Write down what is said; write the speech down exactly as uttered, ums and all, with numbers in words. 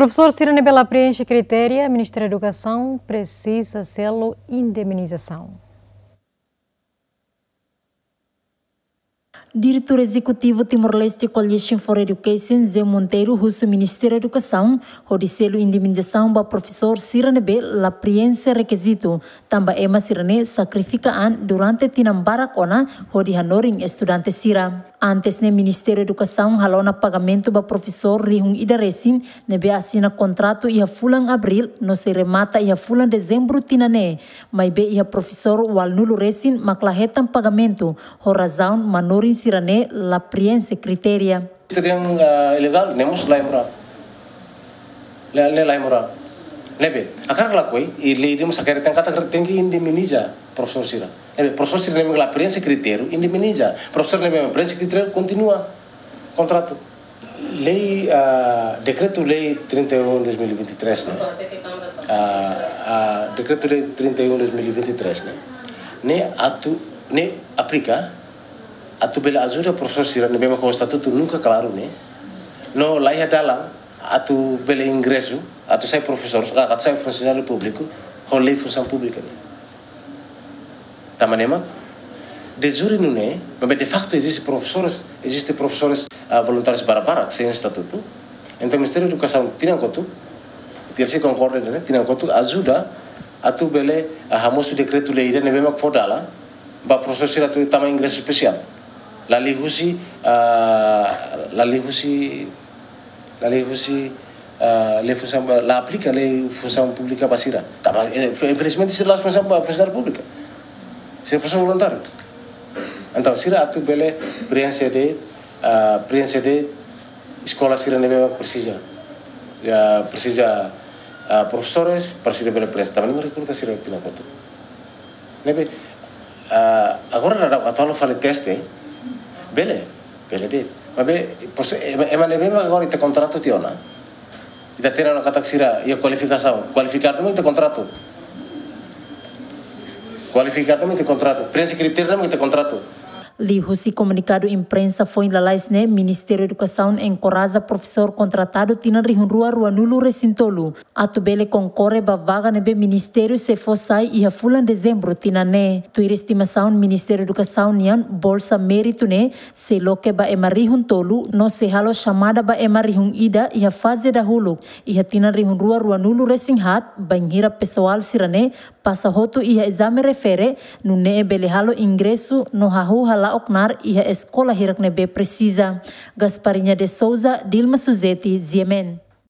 Profesór sira ne'ebé la preenxe kritéria, Ministériu Edukasaun presiza selu indemnizasaun. Diretór Ezekutivu Timor-Leste Coalition for Education, Zé Monteiro, husu Ministériu Edukasaun hodi selu indemnizasaun ba profesór sira ne'ebé la preenxe rekizitu, tanba ema sira-ne'e sakrifika an durante tinan barak ona hodi hanorin estudante sira. Antes ne'e, Ministériu Edukasaun halo ona pagamentu ba profesór rihun ida resin ne'ebé asina kontratu iha fulan Abríl no sei remata iha fulan Dezembru tinan ne'e. Maibé iha profesór ualunulu resin mak la hetan pagamentu, ho razaun manorin sira-ne'e la preenxe kritéria. Itu yang, eh, ilegal, ne'e mós la moral. Ne'e, ne'e la moral. Ne'ebé, hakarak ka lakohi, i lei ne'e mós hakarak, tenke, tenke indemniza profesór sira. Ne'ebé, profesór sira ne'ebé la preenxe kritériu, indemniza. Profesór ne'ebé preenxe kritériu, kontinua kontratu. Lei, ah, Dekretu-Lei trinta e um dois mil e vinte e três ne'e. Ah, ah, Dekretu-Lei trinta e um dois mil e vinte e três ne'e. Ne'e atu, ne'e aplika, atu bele ajuda profesór sira ne'ebé mak ho estatutu nunka klaru ne'e. No la iha dalan atu bele ingresu, atu sai profesór, ah, atu sai funsionáriu públiku, ho lei funsaun públika ne'e. Tanba ne'e mak, de jure nune'e, maibé de facto eziste profesores, eziste profesores, ah, voluntárius barak-barak, sein estatutu. Entaun, Ministériu Edukasaun tinan kotuk, T L C konkorda ne'e, tinan kotuk, ajuda atu bele, ah, hamosu dekretu-lei ida ne'ebé mak fó dalan ba profesór sira atu tama ingresu espesiál. La liuhusi, ah, la liuhusi, la liuhusi, ah, lei funsaun, la aplika lei funsaun públika ba sira. Tanba, eh, infelizmente sira la'ós funsaun, funsionáriu públiku. Sira profesór voluntáriu. Entaun, sira atu bele preenxe de'it, ah, preenxe de'it eskola sira ne'ebé presiza. Ya, presiza, ah, profesores, para sira bele preenxe. Tanba ne'e mak rekruta sira tinan kotuk. Ne'ebé, ah, agora daudaun atu halo fali teste, bele, bele de'it. Maibé, pos-, ema, ema ne'ebé mak agora ita kontratu tiha ona. Ita hatene ona katak sira iha kualifikasaun. Kualifikadu mak ita kontratu. Kualifikadu mak ita kontratu. Preenxe kritériu mak ita kontratu. Liuhusi komunikadu imprensa foin lalais ne'e, Ministériu Edukasaun enkoraja profesór kontratadu tinan rihun rua ruanulu resin tolu atu bele konkorre ba vaga ne'ebé ministériu sei fó sai iha fulan Dezembru tinan ne'e. Tuir estimasaun Ministériu Edukasaun nian, bolsa méritu ne'e sei loke ba ema rihun tolu, no sei halo xamada ba ema rihun ida iha faze dahuluk, iha tinan rihun rua ruanulu resin haat, bainhira pesoál sira-ne'e pasa hotu iha ezame refere, nune'e bele halo ingresu no hahú hala'o knaar iha eskola hirak ne'ebé presiza. Gasparinha de Souza, Dilma Suzeti, G M N.